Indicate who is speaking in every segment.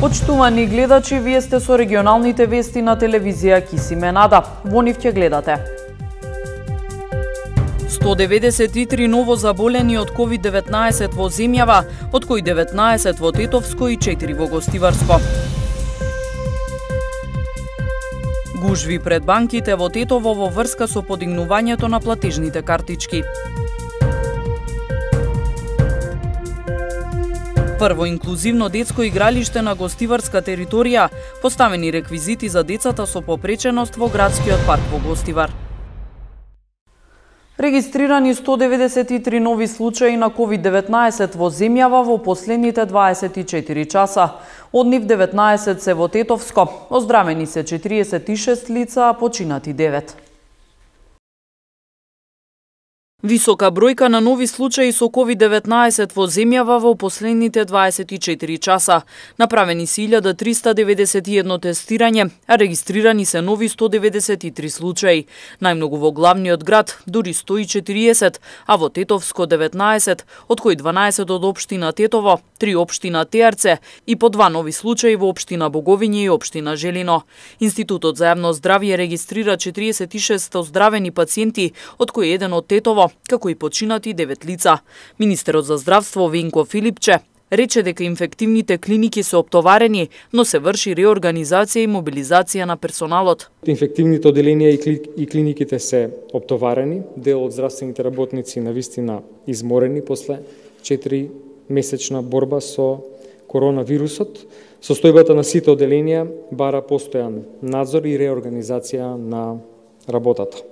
Speaker 1: Почитувани гледачи, вие сте со регионалните вести на телевизија Кисиме Нада. Во нив ќе гледате. 193 ново заболени од COVID-19 во земјава, од кои 19 во Тетовско и 4 во Гостиварско. Гужви пред банките во Тетово во врска со подигнувањето на платежните картички. Прво инклузивно детско игралиште на гостиварска територија, поставени реквизити за децата со попреченост во градскиот парк во Гостивар. Регистрирани 193 нови случаи на COVID-19 во земјава во последните 24 часа. Од нив 19 се во Тетовско, оздравени се 46 лица, а починати 9. Висока бројка на нови случаи со COVID-19 во земјава во последните 24 часа. Направени се 1391 тестирање, а регистрирани се нови 193 случаи. Најмногу во главниот град, дури 140, а во Тетовско 19, од кои 12 од општина Тетово, 3 општина Теарце и по 2 нови случаи во општина Боговиње и општина Желино. Институтот за јавно здравје регистрира 46 оздравени пациенти, од кои еден од Тетово, како и починати 9 лица. Министерот за здравство Венко Филипче рече дека инфективните клиники се оптоварени, но се врши реорганизација и мобилизација на персоналот.
Speaker 2: Инфективните оделенија и клиниките се оптоварени, дел од здравствените работници навистина изморени после 4 месечна борба со коронавирусот. Состојбата на сите оделенија бара постојан надзор и реорганизација на работата.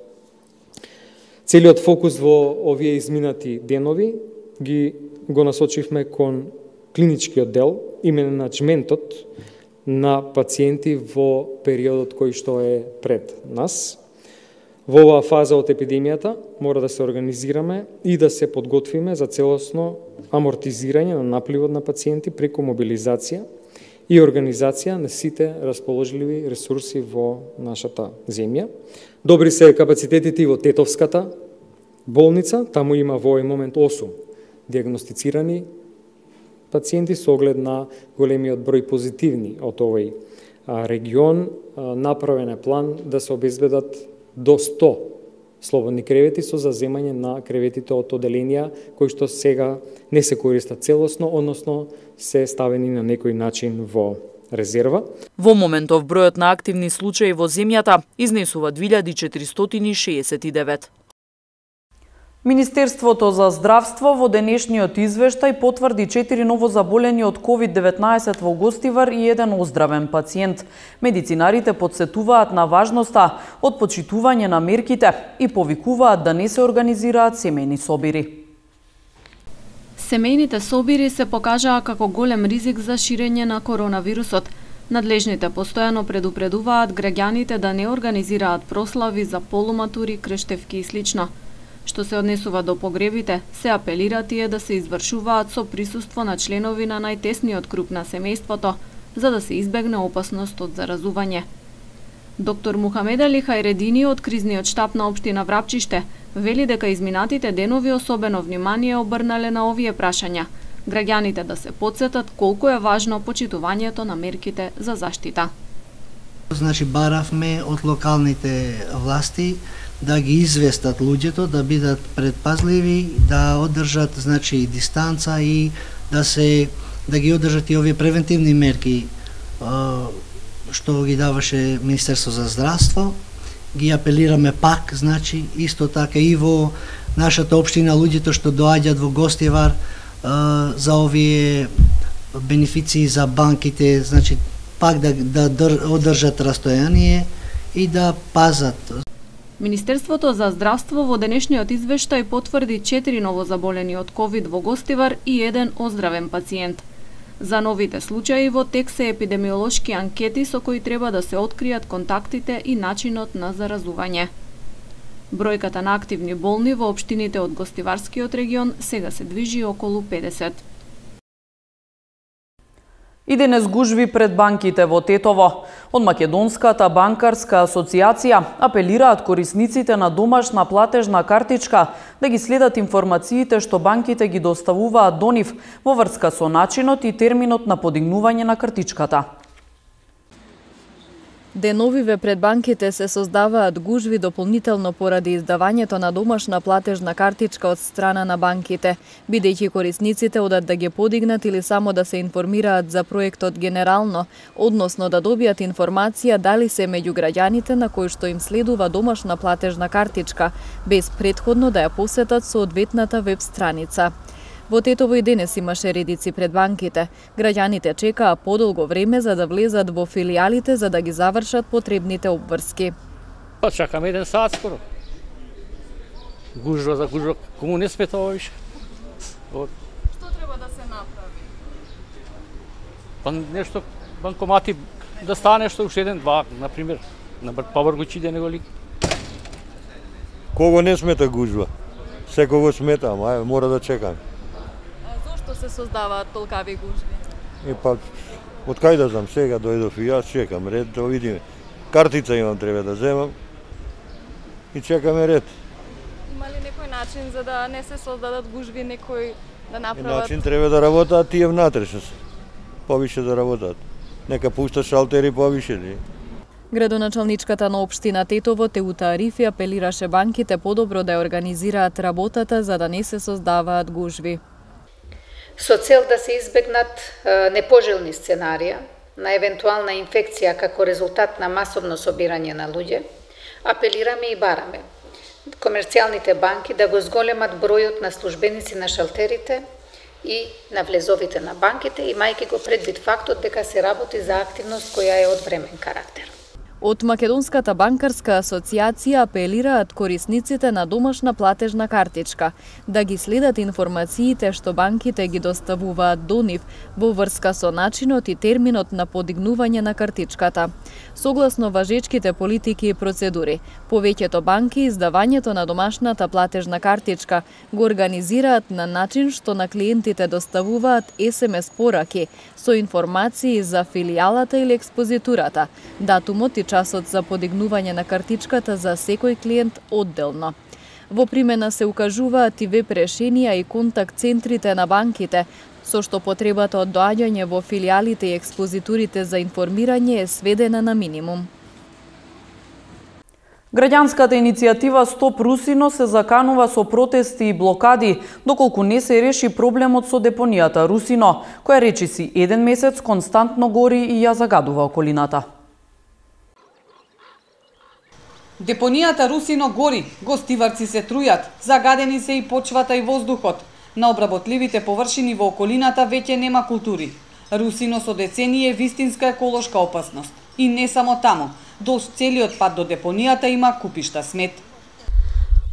Speaker 2: Целиот фокус во овие изминати денови го насочивме кон клиничкиот дел и менеджментот на пациенти во периодот кој што е пред нас. Во оваа фаза од епидемијата мора да се организираме и да се подготвиме за целосно амортизирање на напливот на пациенти преку мобилизација и организација на сите расположливи ресурси во нашата земја. Добри се капацитетите во Тетовската болница, таму има во овој момент 8 диагностицирани пациенти со оглед на големиот број позитивни од овој регион. Направен е план да се обезбедат до 100 слободни кревети со заземање на креветите од оделенија кои што сега не се користат целосно, односно се ставени на некој начин во резерва.
Speaker 1: Во моментов бројот на активни случаи во земјата изнесува 2469. Министерството за здравство во денешниот извештај потврди 4 новозаболени од COVID-19 во Гостивар и еден оздравен пациент. Медицинарите подсетуваат на важноста од почитување на мерките и повикуваат да не се организираат семејни собири.
Speaker 3: Семејните собири се покажаа како голем ризик за ширење на коронавирусот. Надлежните постојано предупредуваат граѓаните да не организираат прослави за полуматури, крештевки и слично. Што се однесува до погребите, се апелира тие да се извршуваат со присуство на членови на најтесниот круг на семејството, за да се избегне опасност од заразување. Доктор Мухамед Али Хајредини од кризниот штаб на општина Врапчиште вели дека изминатите денови особено внимание обрнале на овие прашања, граѓаните да се потсетат колку е важно почитувањето на мерките за заштита.
Speaker 4: Значи баравме од локалните власти да ги известат луѓето, да бидат предпазливи, да одржат значи дистанца и да ги одржат и овие превентивни мерки што ги даваше Министерство за здравство. Ги апелираме пак, значи исто така и во нашата општина луѓето што доаѓаат во Гостивар за овие бенефиции за банките, значи пак да одржат растојание и да пазат.
Speaker 3: Министерството за здравство во денешниот извештај потврди 4 новозаболени од ковид во Гостивар и еден оздравен пациент. За новите случаи во тек се епидемиолошки анкети со кои треба да се откријат контактите и начинот на заразување. Бројката на активни болни во општините од Гостиварскиот регион сега се движи околу 50.
Speaker 1: И денес гужви пред банките во Тетово. Од Македонската банкарска асоциација апелираат корисниците на домашна платежна картичка да ги следат информациите што банките ги доставуваат до нив во врска со начинот и терминот на подигнување на картичката.
Speaker 3: Деновиве пред банките се создаваат гужви дополнително поради издавањето на домашна платежна картичка од страна на банките, бидејќи корисниците одат да ги подигнат или само да се информираат за проектот генерално, односно да добијат информација дали се меѓу граѓаните на кои што им следува домашна платежна картичка, без претходно да ја посетат соодветната веб страница. Во Тетово и денес имаше редици пред банките. Граѓаните чекаа подолго време за да влезат во филијалите за да ги завршат потребните обврски.
Speaker 5: Чакаме 1 сат скоро. Гужва за гужва, кому не смета ова више?
Speaker 3: Што треба да се направи?
Speaker 5: Па нешто, банкомати, да стане нешто уште 1-2, например, на побргучи да не го лик.
Speaker 6: Кого не смета гужва? Секого смета, ама мора да чекам.
Speaker 3: Зошто се создаваат толкави гужви?
Speaker 6: И па, од кај да знам, сега дојдов и јас, чекам ред, да видиме. Картица имам, треба да земам и чекаме ред.
Speaker 3: Има ли некој начин за да не се создадат гужви, некој да направат?
Speaker 6: Начин треба да работаат тие внатрешно, повише да работаат. Нека пуштат шалтери повише ли?
Speaker 3: Градоначалничката на општина Тетово Теута Арифи апелираше банките подобро да ја организираат работата за да не се создаваат гужви.
Speaker 7: Со цел да се избегнат непожелни сценарија на евентуална инфекција како резултат на масовно собирање на луѓе, апелираме и бараме комерцијалните банки да го зголемат бројот на службеници на шалтерите и на влезовите на банките, имајќи го предвид фактот дека се работи за активност која е од времен карактер.
Speaker 3: Од Македонската банкарска асоциација апелираат корисниците на домашна платежна картичка да ги следат информациите што банките ги доставуваат до нив во врска со начинот и терминот на подигнување на картичката. Согласно важечките политики и процедури, повеќето банки издавањето на домашната платежна картичка го организираат на начин што на клиентите доставуваат SMS пораки со информации за филијалата или експозитурата, датумот и часот за подигнување на картичката за секој клиент одделно. Во примена се укажуваат и веб решенија и контакт центрите на банките, со што потребата од доаѓање во филијалите и експозитурите за информирање е сведена на минимум.
Speaker 1: Граѓанската иницијатива Стоп Русино се заканува со протести и блокади, доколку не се реши проблемот со депонијата Русино, која речиси 1 месец константно гори и ја загадува околината.
Speaker 8: Депонијата Русино гори, гостиварци се трујат, загадени се и почвата и воздухот. На обработливите површини во околината веќе нема култури. Русино со децении е вистинска еколошка опасност. И не само таму, долж целиот пат до депонијата има купишта смет.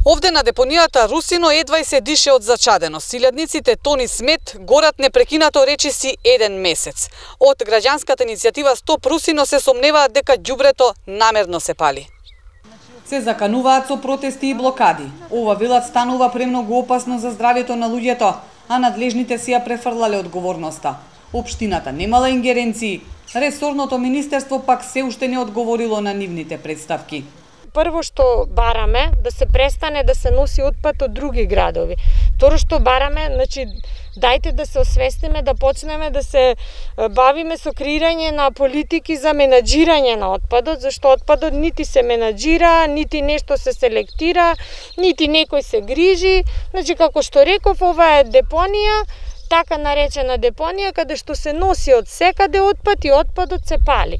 Speaker 8: Овде на депонијата Русино едва и се дише од зачаденост. Илјадниците тони смет горат непрекинато речиси 1 месец. Од граѓанската иницијатива Стоп Русино се сомневаат дека ѓубрето намерно се пали. Се закануваат со протести и блокади. Ова велат станува премногу опасно за здравјето на луѓето, а надлежните си ја префрлале одговорноста. Општината немала ингеренции, ресорното министерство пак се уште не одговорило на нивните представки.
Speaker 9: Прво што бараме да се престане да се носи отпад од други градови. Второ што бараме, значи дајте да се освестиме, да почнеме да се бавиме со креирање на политики за менаџирање на отпадот, зашто отпадот нити се менаџира, нити нешто се селектира, нити некој се грижи. Значи како што реков, ова е депонија, така наречена депонија, каде што се носи од секаде отпад и отпадот се пали.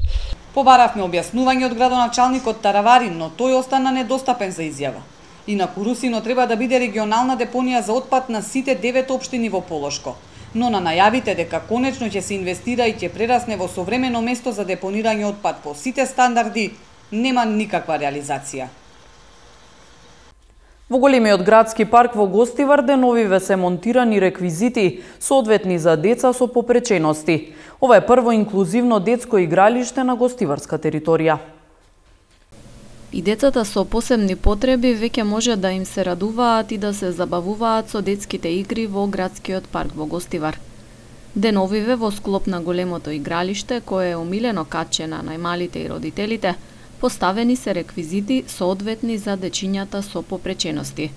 Speaker 8: Побаравме објаснување од градоначалникот Тараварин, но тој остана недостапен за изјава. Инаку Русино треба да биде регионална депонија за отпад на сите 9 општини во Полошко. Но на најавите дека конечно ќе се инвестира и ќе прерасне во современо место за депонирање отпад по сите стандарди, нема никаква реализација.
Speaker 1: Во големиот градски парк во Гостивар деновиве се монтирани реквизити, соодветни за деца со попречености. Ова е прво инклузивно детско игралиште на гостиварска територија.
Speaker 3: И децата со посебни потреби веќе може да им се радуваат и да се забавуваат со детските игри во градскиот парк во Гостивар. Деновиве во склоп на големото игралиште, кое е омилено катче на најмалите и родителите, поставени се реквизити соодветни за дечињата со попречености.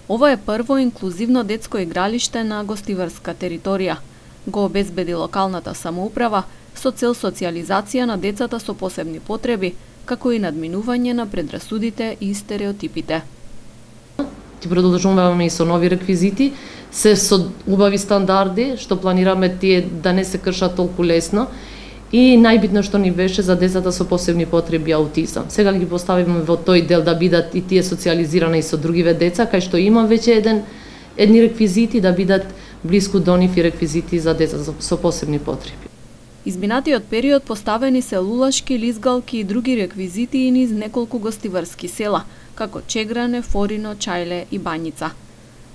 Speaker 3: Ова е прво инклузивно детско игралиште на гостиварска територија. Го обезбеди локалната самоуправа со цел социјализација на децата со посебни потреби, како и надминување на предрасудите и стереотипите.
Speaker 10: Ти продолжуваме и со нови реквизити, се со убави стандарди, што планираме тие да не се кршат толку лесно. И најбитно што ни беше за децата со посебни потреби аутизам. Сега ги поставиме во тој дел да бидат и тие социјализирани и со другиве деца, кај што има веќе едни реквизити да бидат блиску до нив и реквизити за деца со посебни потреби.
Speaker 3: Изминатиот период поставени се лулашки, лизгалки и други реквизити и низ неколку гостиварски села, како Чегране, Форино, Чајле и Бањица.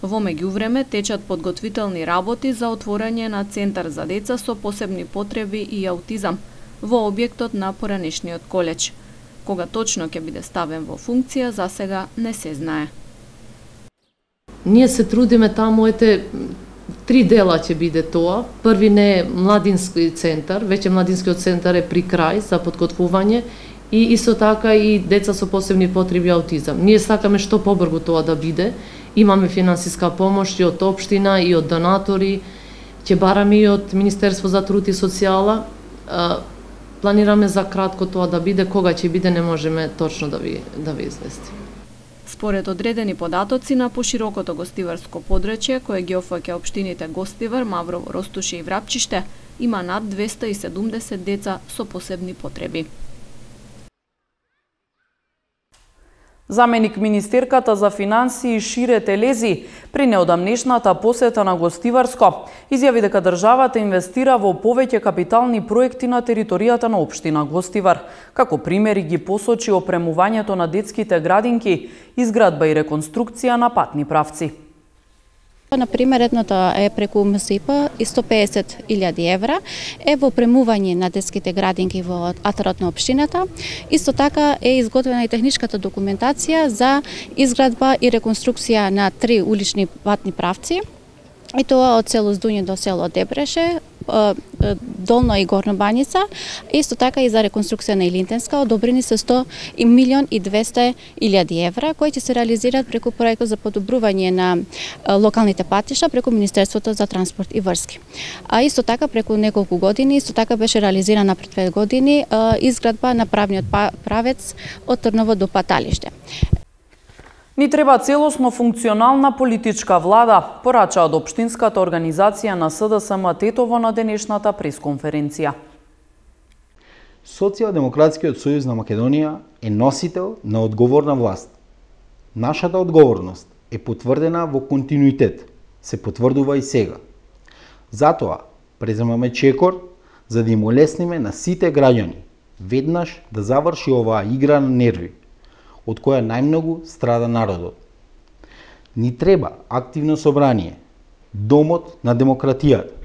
Speaker 3: Во меѓувреме течат подготвителни работи за отворање на центар за деца со посебни потреби и аутизам во објектот на поранешниот колеџ. Кога точно ќе биде ставен во функција, засега не се знае.
Speaker 10: Ние се трудиме таму, ете, 3 дела ќе биде тоа. Први не е младински центар, веќе младинскиот центар е при крај за подготвување и исто така и деца со посебни потреби и аутизам. Ние сакаме што побрзо тоа да биде. Имаме финансиска помош и од општина и од донатори, ќе бараме и од Министерство за труд и социјала. Планираме за кратко тоа да биде, кога ќе биде не можеме точно да ви известиме.
Speaker 3: Според одредени податоци на поширокото гостиварско подрачје, кое ги опфаќа општините Гостивар, Маврово, Ростуше и Врапчиште, има над 270 деца со посебни потреби.
Speaker 1: Заменик министерката за финансии Шире Телези при неодамнешната посета на Гостиварско изјави дека државата инвестира во повеќе капитални проекти на територијата на општина Гостивар. Како примери ги посочи опремувањето на детските градинки, изградба и реконструкција на патни правци.
Speaker 11: Например, едното е преку МСИП и 150.000 евра е во премување на детските градинки во атарот на општината. Исто така е изготвена и техничката документација за изградба и реконструкција на 3 улични патни правци. И тоа од село Здуње до село Дебреше, Долно и Горно Бањица, исто така и за реконструкција на Илинтенска, одобрени се 100.200.000 евра, кои ќе се реализираат преку проектот за подобрување на локалните патишта преку Министерството за транспорт и врски. А исто така преку неколку години, исто така беше реализирана пред 5 години изградба на правниот правец од Трново до Паталиште.
Speaker 1: Ни треба целосно функционална политичка влада, порача од општинската организација на СДСМ Тетово на денешната пресконференција.
Speaker 12: Социјалдемократскиот сојуз на Македонија е носител на одговорна власт. Нашата одговорност е потврдена во континуитет, се потврдува и сега. Затоа преземаме чекор за да им олесниме на сите граѓани веднаш да заврши оваа игра на нерви, од која најмногу страда народот. Ни треба активно собрание, домот на демократијата,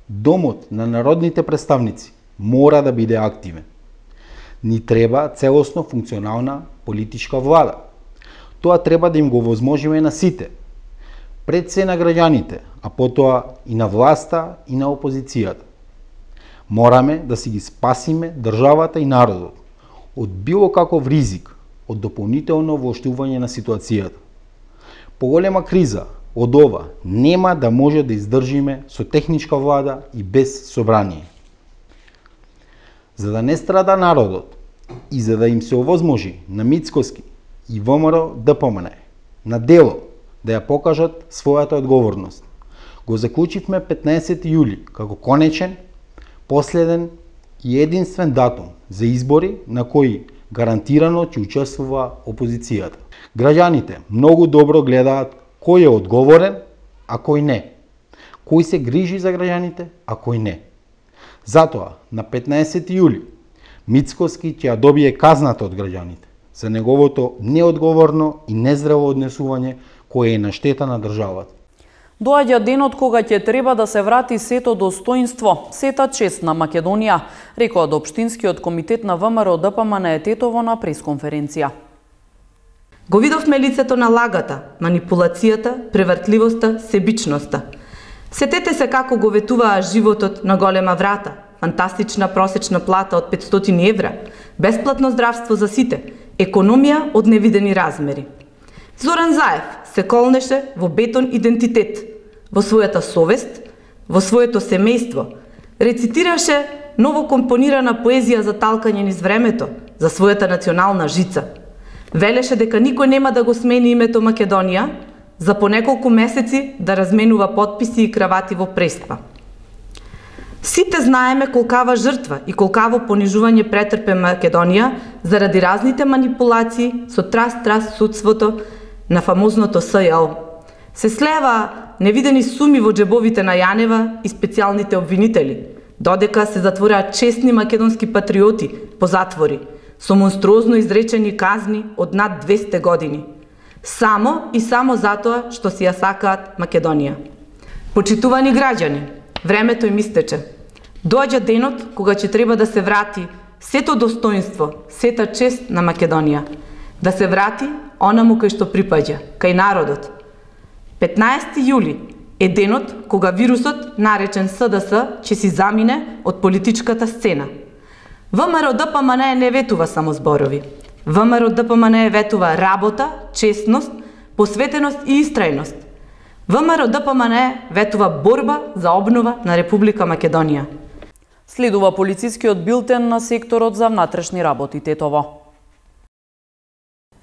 Speaker 12: домот на народните представници мора да биде активен. Ни треба целосно функционална политичка влада. Тоа треба да им го возможиме на сите, пред се на граѓаните, а потоа и на власта и на опозицијата. Мораме да си ги спасиме државата и народот од било каков ризик, од дополнително воштување на ситуацијата. Поголема криза од ова нема да може да издржиме со техничка влада и без собрание. За да не страда народот и за да им се овозможи на Мицкоски и ВМРО ДПМН на дело да ја покажат својата одговорност, го заклучивме 15 јули како конечен, последен и единствен датум за избори на кои гарантирано ќе учествува опозицијата. Граѓаните многу добро гледаат кој е одговорен, а кој не. Кој се грижи за граѓаните, а кој не. Затоа, на 15 јули, Мицкоски ќе ја добие казната од граѓаните за неговото неодговорно и нездраво однесување кое е на штета на државата.
Speaker 1: Доаѓа денот кога ќе треба да се врати сето достоинство, сета чест на Македонија, рекоа од Општинскиот комитет на ВМРО ДПМН Тетово на пресконференција.
Speaker 13: Го видовме лицето на лагата, манипулацијата, превртливоста, себичноста.
Speaker 14: Сетете се како го ветуваа животот на голема врата, фантастична просечна плата од 500 евра, бесплатно здравство за сите, економија од невидени размери. Зоран Заев се колнеше во бетон идентитет, во својата совест, во своето семејство, рецитираше новокомпонирана поезија за талкање низ времето, за својата национална жица. Велеше дека никој нема да го смени името Македонија, за по неколку месеци да разменува потписи и кравати во Преспа. Сите знаеме колкава жртва и колкаво понижување претрпе Македонија заради разните манипулации со траст судството на фамозното СЈО. Се слева невидени суми во джебовите на Јанева и специјалните обвинители, додека се затвораат честни македонски патриоти по затвори, со монструозно изречени казни од над 200 години. Само и само затоа што си ја сакаат Македонија. Почитувани граѓани, времето им истече. Доаѓа денот кога ќе треба да се врати сето достоинство, сета чест на Македонија. Да се врати онаму кај што припаѓа, кај народот. 15 јули е денот кога вирусот, наречен СДС, ќе си замине од политичката сцена. ВМРО-ДПМНЕ не ветува само зборови. ВМРО-ДПМНЕ ветува работа, честност, посветеност и истрајност. ВМРО-ДПМНЕ ветува борба за обнова на Република Македонија.
Speaker 1: Следува полицискиот билтен на секторот за внатрешни работи Тетово.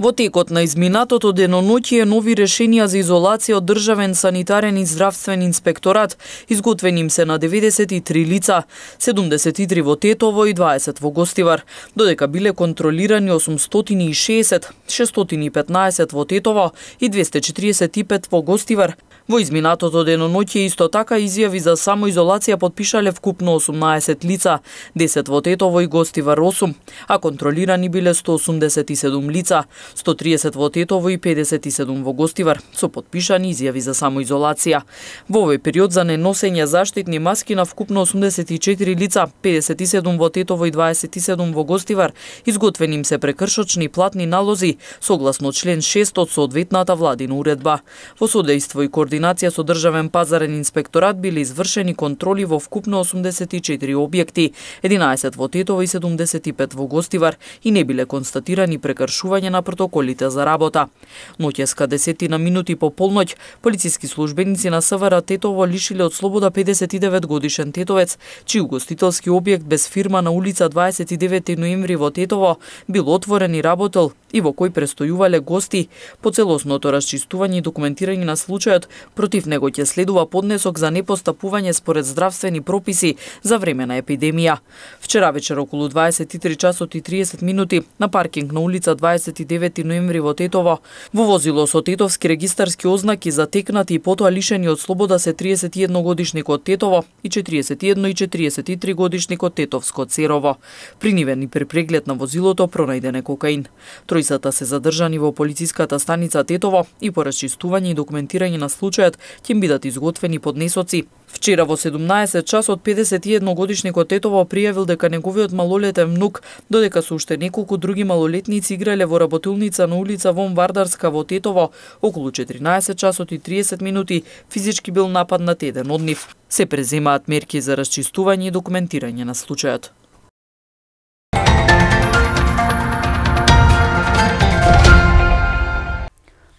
Speaker 1: Во текот на изминатото деноноќие нови решенија за изолација од Државен санитарен и здравствен инспекторат изготвени им се на 93 лица, 73 во Тетово и 20 во Гостивар, додека биле контролирани 860, 615 во Тетово и 245 во Гостивар. Во изминатото деноноќие исто така изјави за самоизолација подпишале вкупно 18 лица, 10 во Тетово и Гостивар 8, а контролирани биле 187 лица, 130 во Тетово и 57 во Гостивар, со подпишани изјави за самоизолација. Во овој период за неносење заштитни маски на вкупно 84 лица, 57 во Тетово и 27 во Гостивар, изготвени им се прекршочни платни налози, согласно член 6 од соодветната владина уредба. Во содејство и координација со Државен пазарен инспекторат биле извршени контроли во вкупно 84 објекти, 11 во Тетово и 75 во Гостивар и не биле констатирани прекршување на протоколите за работа. Ноќеска 10 на минути по полноќ, полициски службеници на СВР Тетово лишиле од слобода 59 годишен тетовец, чиј угостителски објект без фирма на улица 29 ноември во Тетово бил отворен и работел и во кој престојувале гости. По целосното расчистување и документирање на случајот, против него ќе следува поднесок за непостапување според здравствени прописи за време на епидемија. Вчера вечер околу 23 часот и 30 минути на паркинг на улица 29 ноември во Тетово, во возило со тетовски регистарски ознаки затекнати и потоа лишени од слобода се 31 годишникот Тетово и 41 и 43 годишникот Тетовско Церово. При нивен и при преглед на возилото пронајден е кокаин. Тројцата се задржани во полициската станица Тетово и по расчистување и документирање на случајот ќе бидат изготвени поднесоци. Вчера во 17 часот 51 годишникот Тетово пријавил дека неговиот малолетен внук, додека со уште неколку други малолетници играле во работилница на улица Вон Вардарска во Тетово, околу 14 часот и 30 минути физички бил нападнат еден од нив. Се преземаат мерки за расчистување и документирање на случајот.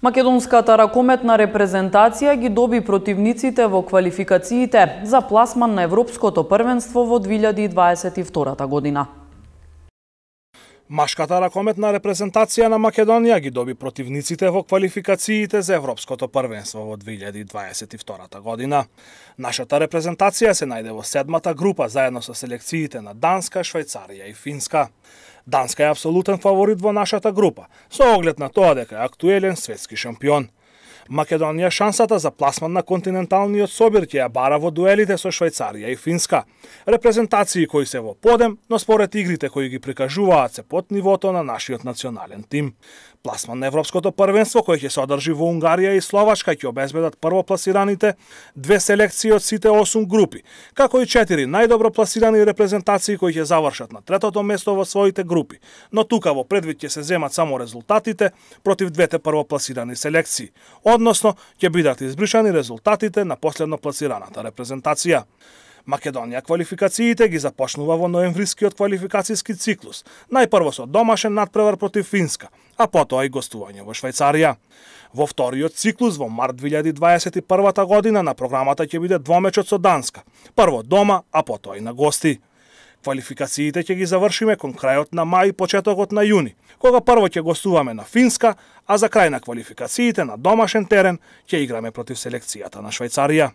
Speaker 1: Македонската ракометна репрезентација ги доби противниците во квалификациите за пласман на Европското првенство во 2022 година.
Speaker 15: Машката ракометна репрезентација на Македонија ги доби противниците во квалификациите за Европското првенство во 2022 година. Нашата репрезентација се најде во седмата група заедно со селекциите на Данска, Швајцарија и Финска. Данска е апсолутен фаворит во нашата група, со оглед на тоа дека е актуелен светски шампион. Македонија шансата за пласман на континенталниот собир ќе ја бара во дуелите со Швајцарија и Финска. Репрезентации кои се во подем, но според игрите кои ги прикажуваат се под нивото на нашиот национален тим. Пласман на Европското првенство, кој ќе се одржи во Унгарија и Словачка, ќе обезбедат првопласираните 2 селекции од сите 8 групи, како и 4 најдобро пласирани репрезентации кои ќе завршат на 3-то место во своите групи. Но тука во предвид ќе се земат само резултатите против 2 првопласирани селекции, односно ќе бидат избришани резултатите на последно пласираната репрезентација. Македонија квалификациите ги започнува во ноемврискиот квалификацијски циклус, најпрво со домашен надпревар против Финска, а потоа и гостување во Швајцарија. Во вториот циклус во март 2021 година на програмата ќе биде двомечот со Данска, прво дома, а потоа и на гости. Квалификациите ќе ги завршиме кон крајот на мај и почетокот на јуни, кога прво ќе гостуваме на Финска, а за крај на квалификациите на домашен терен ќе играме против селекцијата на Швајцарија.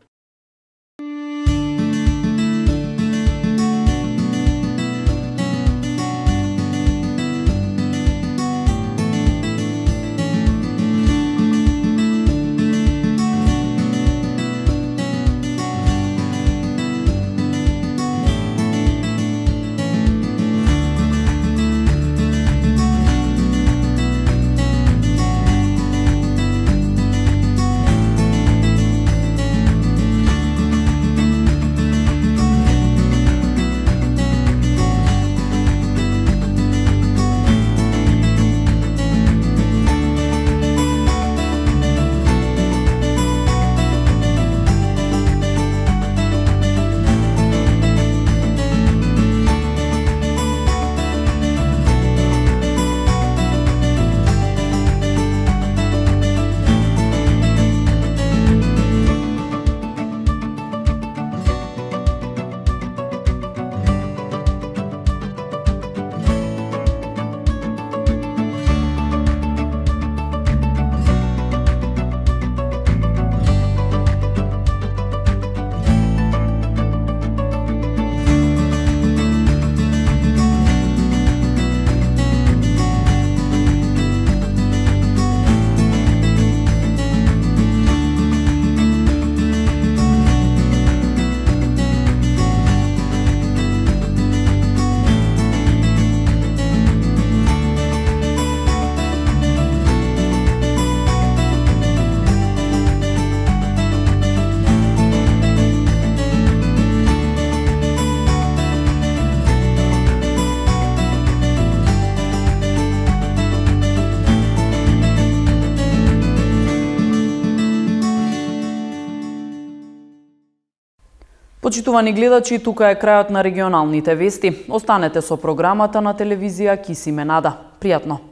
Speaker 1: Почитувани гледачи, тука е крајот на регионалните вести. Останете со програмата на телевизија Кисиме Нада. Пријатно!